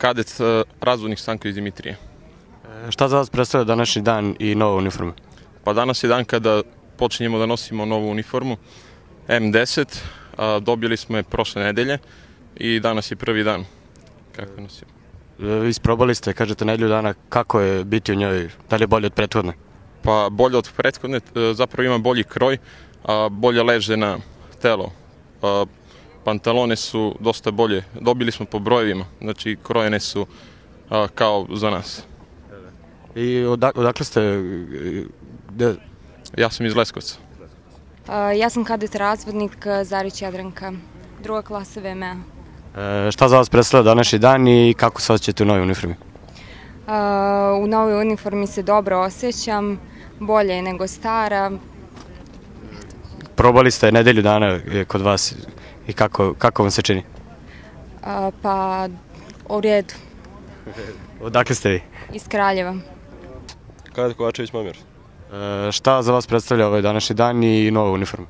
kadet razvodnik Stanko iz Dimitrije. Šta za vas predstavlja današnji dan i nova uniforma? Pa danas je dan kada počinjemo da nosimo novu uniformu M10. Dobili smo je prošle nedelje i danas je prvi dan kako nosimo. Isprobali ste, kažete, nedelju dana, kako je biti u njoj, da li je bolje od prethodne? Pa bolje od prethodne, zapravo ima bolji kroj, bolje leže na telo. Pantalone su dosta bolje, dobili smo po brojevima, znači krojene su kao za nas. I odakle ste? Ja sam iz Leskovca. Ja sam kadet razvodnik Zarić Jadranka, druga klasa VMA. Šta za vas predstavlja današnji dan i kako se osjećate u novoj uniformi? U novoj uniformi se dobro osjećam, bolje je nego stara. Probali ste nedelju dana kod vas i kako vam se čini? Pa u redu. Odakle ste vi? Iz Kraljeva. Kadet Kovačević Momir. Šta za vas predstavlja ovaj današnji dan i nova uniforma?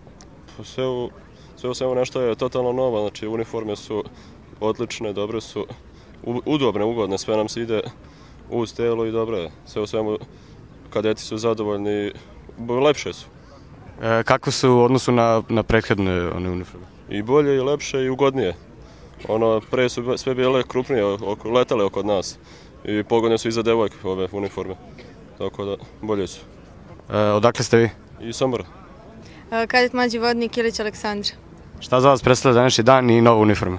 Sve u svemu nešto je totalno novo, znači uniforme su odlične, dobre su, udobne, ugodne, sve nam se ide uz telo i dobro je. Sve u svemu kadeti su zadovoljni, lepše su. Kako su u odnosu na prethodne uniforme? I bolje, i lepše, i ugodnije. Pre su sve bile krupnije, letale oko nas i pogodne su i za devojke ove uniforme, tako da bolje su. Odakle ste vi? I Sombora. Kadet mlađi vodnik Ilić Aleksandra. Šta za vas predstavlja današnji dan i nova uniforma?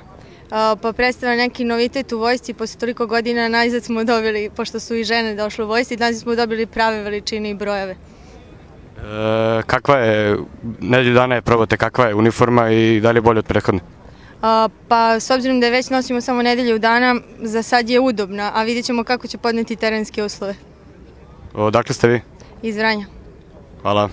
Pa predstavlja neki novitet u vojsci, posle toliko godina najzad smo dobili, pošto su i žene došle u vojsci, najzad smo dobili prave veličine i brojeve. Kakva je, nedelju dana je probate, kakva je uniforma i da li je bolje od prethodne? Pa s obzirom da je već nosimo samo nedelju dana, za sad je udobna, a vidjet ćemo kako će podneti terenske uslove. Odakle ste vi? Iz Vranja. Hvala.